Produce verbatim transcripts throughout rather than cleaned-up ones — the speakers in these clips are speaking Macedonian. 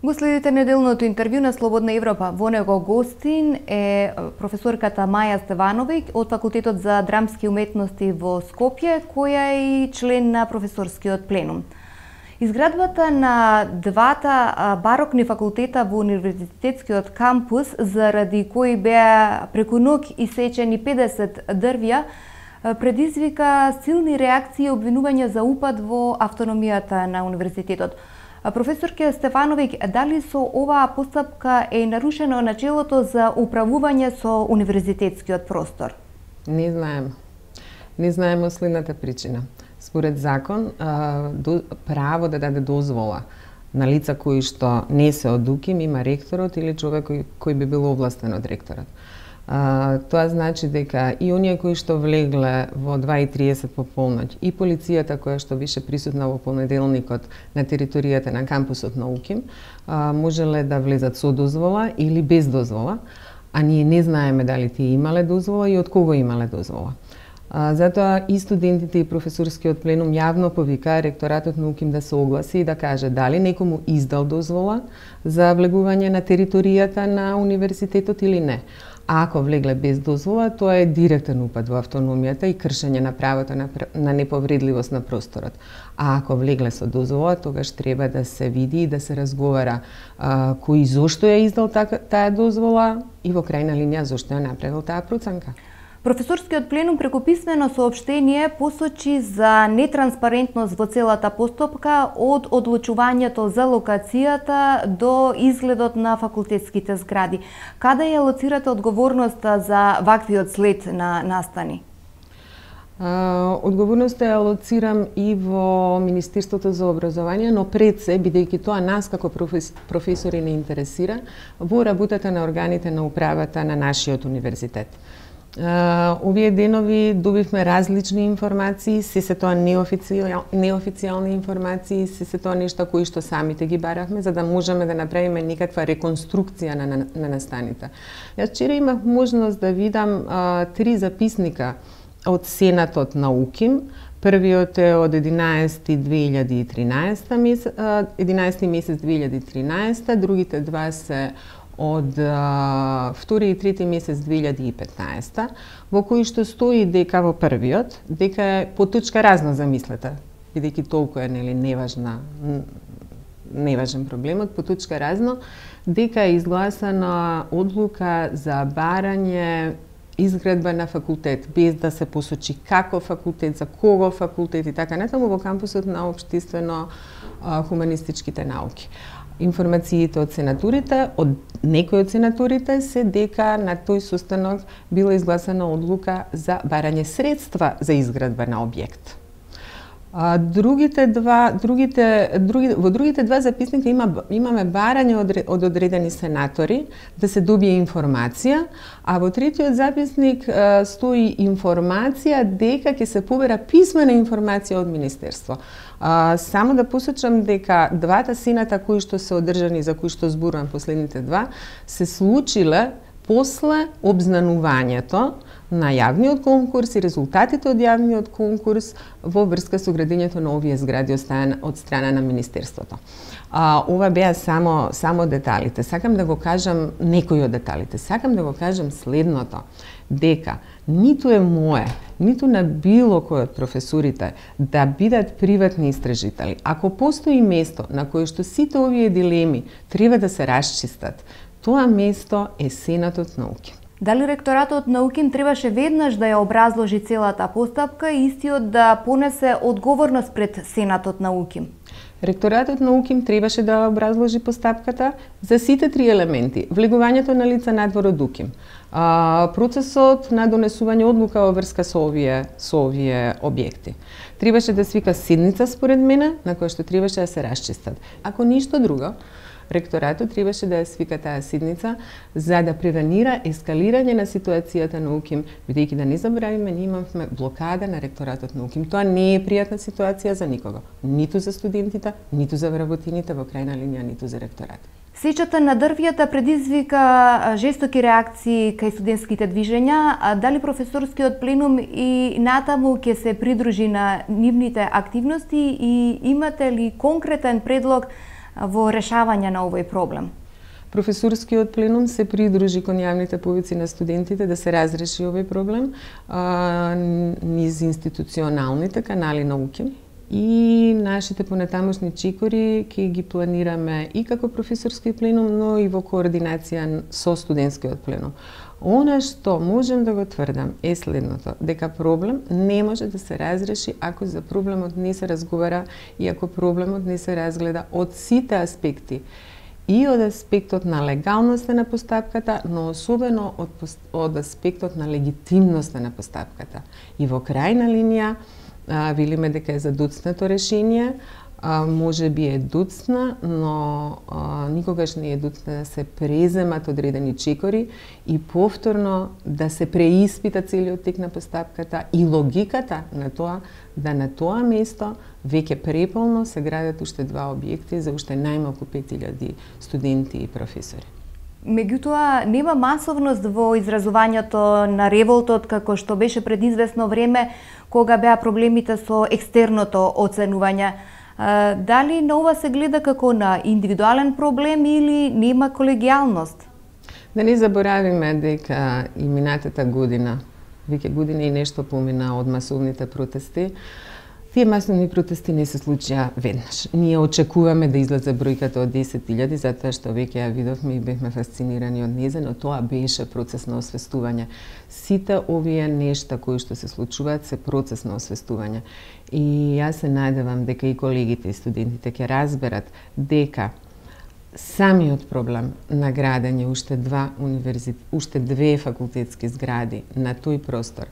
Го следите неделното интервју на Слободна Европа. Во него гостин е професорката Маја Стевановиќ од Факултетот за драмски уметности во Скопје, која е и член на професорскиот пленум. Изградбата на двата барокни факултета во универзитетскиот кампус, заради кои беа преку ноќ исечени педесет дрвја, предизвика силни реакции и обвинувања за упад во автономијата на универзитетот. Професорке Стефановиќ, дали со оваа постапка е нарушено начелото за управување со универзитетскиот простор? Не знаем. Не знаем следната причина. Според закон, право да даде дозвола на лица кои што не се од УКИМ има ректорот или човек кој, кој би бил овластен од ректорот. А, тоа значи дека и оние кои што влегле во два и триесет по полноќ и полицијата која што беше присутна во понеделникот на територијата на кампусот на УКИМ а, можеле да влезат со дозвола или без дозвола, а ние не знаеме дали тие имале дозвола и од кого имале дозвола. А, затоа и студентите и професорскиот пленум јавно повика ректоратот на УКИМ да се огласи и да каже дали некому издал дозвола за влегување на територијата на универзитетот или не. А ако влегле без дозвола, тоа е директен упад во автономијата и кршење на правото на, на неповредливост на просторот. А ако влегле со дозвола, тогаш треба да се види и да се разговара а, кој зошто ја издал та, таа дозвола и во крајна линија зошто ја направил таа проценка. Професорскиот пленум преку писмено соопштение посочи за нетранспарентност во целата постапка од одлучувањето за локацијата до изгледот на факултетските згради. Каде ја лоцирате одговорноста за ваквиот след на настани? Uh, одговорноста ја лоцирам и во Министерството за образование, но пред се, бидејќи тоа нас како профес, професори не интересира, во работата на органите на управата на нашиот универзитет. Uh, овие денови добивме различни информации, се се тоа неофицијал, неофицијални информации, се се тоа нешта кои што самите ги баравме, за да можеме да направиме некаква реконструкција на, на, на настаните. Јас вчера имав можност да видам uh, три записника од Сенатот на УКИМ. Првиот е од единаесети две илјади и тринаесета месец, единаесети месец две илјади и тринаесета, другите два се од а, втори и трети месец две илјади и петнаесета, во кои што стои дека во првиот, дека е по точка разно замислете, бидејќи толку е нели неважна, неважен проблемот, по точка разно, дека е изгласана одлука за барање изградба на факултет, без да се посочи како факултет, за кого факултет и така натаму во кампусот на општествено-хуманистичките науки. Информациите од сенатурите, од некои од сенатурите се дека на тој состанок била изгласана одлука за барање средства за изградба на објект. А, другите два, другите, други, во другите два записника има, имаме барање од, од одредени сенатори да се добие информација, а во третиот записник а, стои информација дека ќе се побера писмена информација од Министерство. А, само да посочам дека двата сената кои што се одржани, за кои што зборувам последните два, се случиле после обзнанувањето на јавниот конкурс и резултатите од јавниот конкурс во врска со градењето на овие згради од страна, од страна на Министерството. А, ова беа само, само деталите. Сакам да го кажам некои од деталите. Сакам да го кажам следното, дека ниту е мое, ниту на било кој од професорите да бидат приватни истражители. Ако постои место на кое што сите овие дилеми треба да се расчистат, тоа место е Сенатот на УКИМ. Дали ректоратот на УКИМ требаше веднаш да ја образложи целата постапка и истиот да понесе одговорност пред Сенатот на УКИМ? Ректоратот на УКИМ требаше да образложи постапката за сите три елементи. Влегувањето на лица надвор од УКИМ, процесот на донесување одлука во врска со овие, со овие објекти. Требаше да свика седница според мене, на која што требаше да се расчистат. Ако ништо друго, ректоратот требаше да ја свика таа седница за да превенира ескалирање на ситуацијата на УКИМ, бидејќи да не заборавиме, ние имавме блокада на ректоратот на УКИМ. Тоа не е пријатна ситуација за никого, ниту за студентите, ниту за вработините, во крајна линија, ниту за ректоратот. Сечата на дрвјата предизвика жестоки реакции кај студентските движења. Дали професорскиот пленум и натаму ќе се придружи на нивните активности и имате ли конкретен предлог во решавање на овој проблем? Професорскиот пленум се придружи кон јавните повици на студентите да се разреши овој проблем а, низ институционалните канали науки и нашите понатамошни чекори ќе ги планираме и како професорски пленум, но и во координација со студентскиот пленум. Она што можем да го тврдам е следното, дека проблем не може да се разреши ако за проблемот не се разговара и ако проблемот не се разгледа од сите аспекти. И од аспектот на легалноста на постапката, но особено од, од аспектот на легитимноста на постапката. И во крајна линија, а, велиме дека е задуцнато решение, а, може би е дуцна, но а, никогаш не е дуцна да се преземат одредени чекори и повторно да се преиспита целиот тек на постапката и логиката на тоа да на тоа место веќе преполно се градат уште два објекти за уште најмалку пет илјади студенти и професори. Меѓутоа, нема масовност во изразувањето на револтот како што беше пред известно време кога беа проблемите со екстерното оценување. Дали на ова се гледа како на индивидуален проблем или нема колегијалност? Да не заборавиме дека и минатата година, веќе година и нешто помина од масовните протести, тие масовни протести не се случија веднаш. Ние очекуваме да излезе бројката од десет илјади, затоа што веќе ја видовме и бевме фасцинирани од нејзе, но тоа беше процес на освестување. Сите овие нешта кои што се случуваат се процес на освестување. И јас се надевам дека и колегите и студентите ќе разберат дека самиот проблем на градење уште два универзитет, уште две факултетски згради на тој простор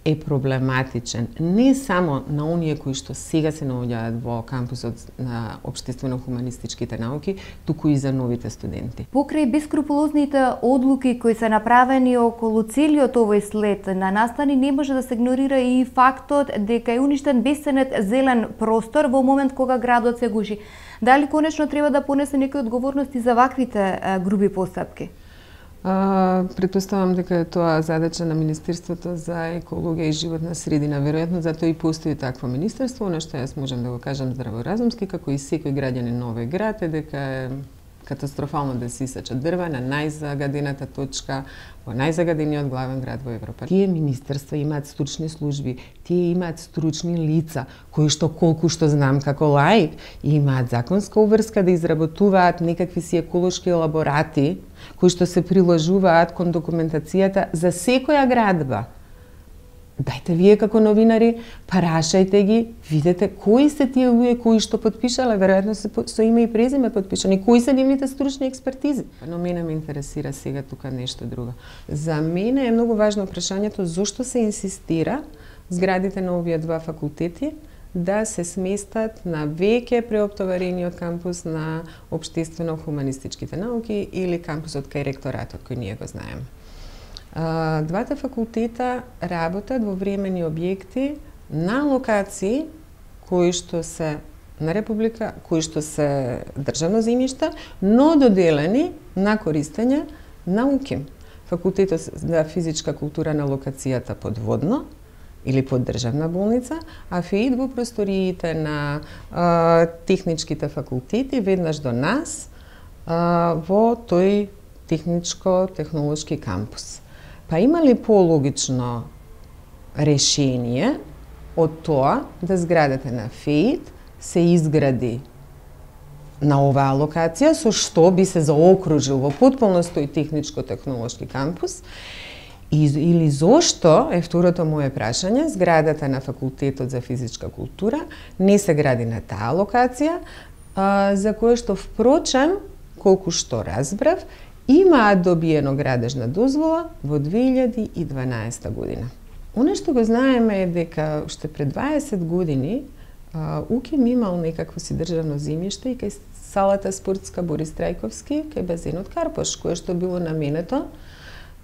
е проблематичен не само на оние кои што сега се наоѓаат во кампусот на општествено-хуманистичките науки, туку и за новите студенти. Покрај бескрупулозните одлуки кои се направени околу целиот овој след на настани, не може да се игнорира и фактот дека е уништен бесценет зелен простор во момент кога градот се гуши. Дали конечно треба да понесе некои одговорности за ваквите груби постапки? А, предпоставам дека е тоа задача на Министерството за екологија и животна средина. Веројатно затоа и постои такво министерство, на што јас можам да го кажам здраворазумски, како и секој граѓанин на овој град, е дека е катастрофално да се исечат дрва на најзагадената точка во најзагадениот главен град во Европа. Тие министерства имаат стручни служби, тие имаат стручни лица, кои што колку што знам како лаик, имаат законска обврска да изработуваат некакви си еколошки елаборати, кои што се приложуваат кон документацијата за секоја градба. Дајте вие како новинари, парашајте ги, видете кои се тие луѓе кои што потпишале, веројатно се со име и презиме потпишани, кои се нивните стручни експертизи. Но мене ме интересира сега тука нешто друго. За мене е многу важно прашањето зошто се инсистира зградите на овие два факултети да се сместат на веќе преоптоварениот кампус на општествено-хуманистичките науки или кампусот кај ректоратот кој ние го знаеме. Двата факултета работат во времени објекти на локации кои што се на Република, кои што се државно земјиште, но доделени на користење на УКИМ. Факултетот за физичка култура на локацијата подводно или под државна болница, а ФЕИД во просториите на а, техничките факултети веднаш до нас а, во тој техничко-технолошки кампус. Па има ли пологично решение од тоа да зградата на ФЕИД се изгради на оваа локација, со што би се заокружил во потполност тој техничко-технолошки кампус, и, или зошто, е второто моје прашање, зградата на Факултетот за физичка култура не се гради на таа локација, а, за кое што впрочем, колку што разбрав, имаат добиено градежна дозвола во две илјади и дванаесета година. Оно што го знаеме е дека уште пред дваесет години УКИМ имал некакво си државно земјиште и кај салата спортска Борис Трајковски, кај базенот Карпош, кое што било наменето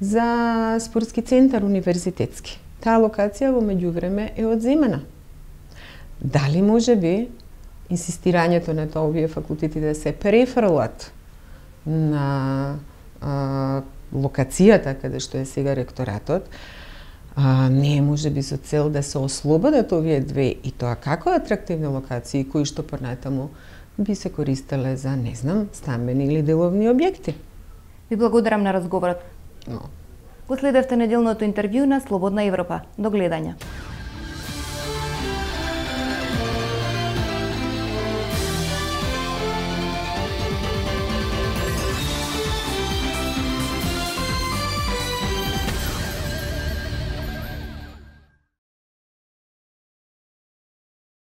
за спортски центар универзитетски. Таа локација во меѓувреме е одземена. Дали може би инсистирањето на тоа овие факултети да се префрлат на а, локацијата каде што е сега ректоратот, а, не е може би со цел да се ослободат овие две и тоа како атрактивни локации кои што понатаму би се користеле за, не знам, стамбени или деловни објекти. Ви благодарам на разговорот. Но. Го следевте неделното интервју на Слободна Европа. До гледање.